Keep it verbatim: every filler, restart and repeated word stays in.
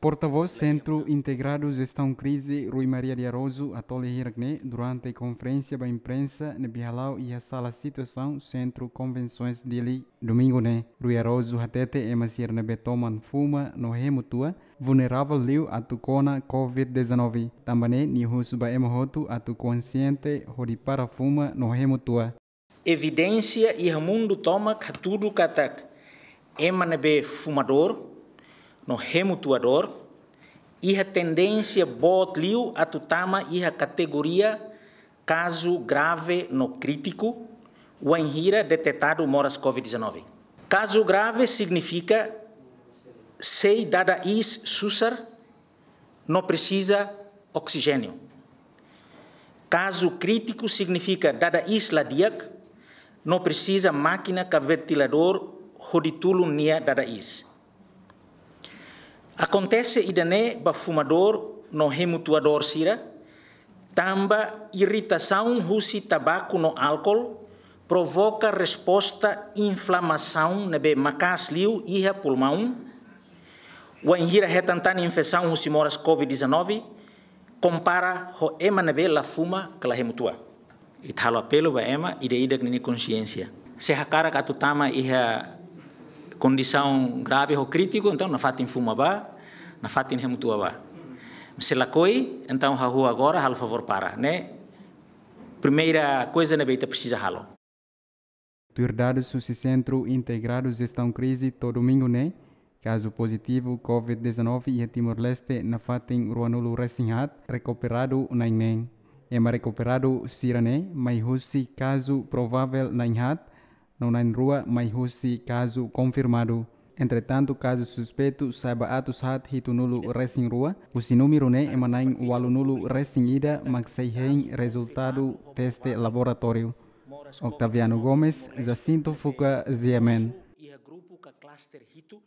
Portavós Sentru Integradu Jestaun Krize, Rui Maria de Araújo, hato'o lia hirak ne'e durante konferénsia ba imprensa ne'ebé hala'o iha sala situasaun Sentru Konvensoens Dili, domingu ne'e. Rui Araújo hatete ema sira ne'ebé toman fuma no hemu tua vulneravel liu atu kona covid dezanove. Tanba ne'e nia husu ba ema hotu atu konsiente hodi para fuma no hemu tua. Evidénsia iha mundu tomak hatudu katak ema ne'ebé fumadór no hemu tuadór iha tendénsia boot liu atu tama iha kategoria kazu grave no krítiku, wainhira detetadu moras covid dezanove. Kazu grave signifika sei dada iis susar no presiza oksijéniu. Kazu krítiku signifika dada iis la di'ak no presiza mákina ka ventiladór hodi tulun nia dada iis. Akontese ida-ne'e ba fumadór no hemu tuadór sira, tanba iritasaun husi tabaku no álkol provoka resposta inflamasaun ne'ebé maka'as liu iha pulmaun, wainhira hetan tan infesaun husi moras covid dezanove, kompara ho ema ne'ebé la fuma ka la hemu tua. Ita halo apelu ba ema ida-idak nia konsiénsia. Se hakarak atu tama iha kondisaun grave ho krítiku, entaun nafatin fuma bá, nafatin hemu tua bá. Se lakohi, entaun hahú agora, halo favór para. Ne'e primeira coisa ne'ebé ita presiza halo. Tuir dadus husi Sentru Integradu Jestaun Krize to'o domingu ne'e, kazu pozitivu covid dezanove iha Timor-Leste nafatin ruanulu resin haat rekuperadu na'in-neen. Ema rekuperadu sira-ne'e mai husi kazu provavel na'in haat, no na'in-rua mai husi kazu konfirmadu. Entretantu, kazu suspeitu sa'e ba atus haat hitunulu resin rua, husi númeru ne'e ema na'in ualunulu resin ida mak sei hein rezultadu teste laboratóriu. Octaviano Gomes, Jacinto Fuca, G M N. Iha grupu ka klaster hitu,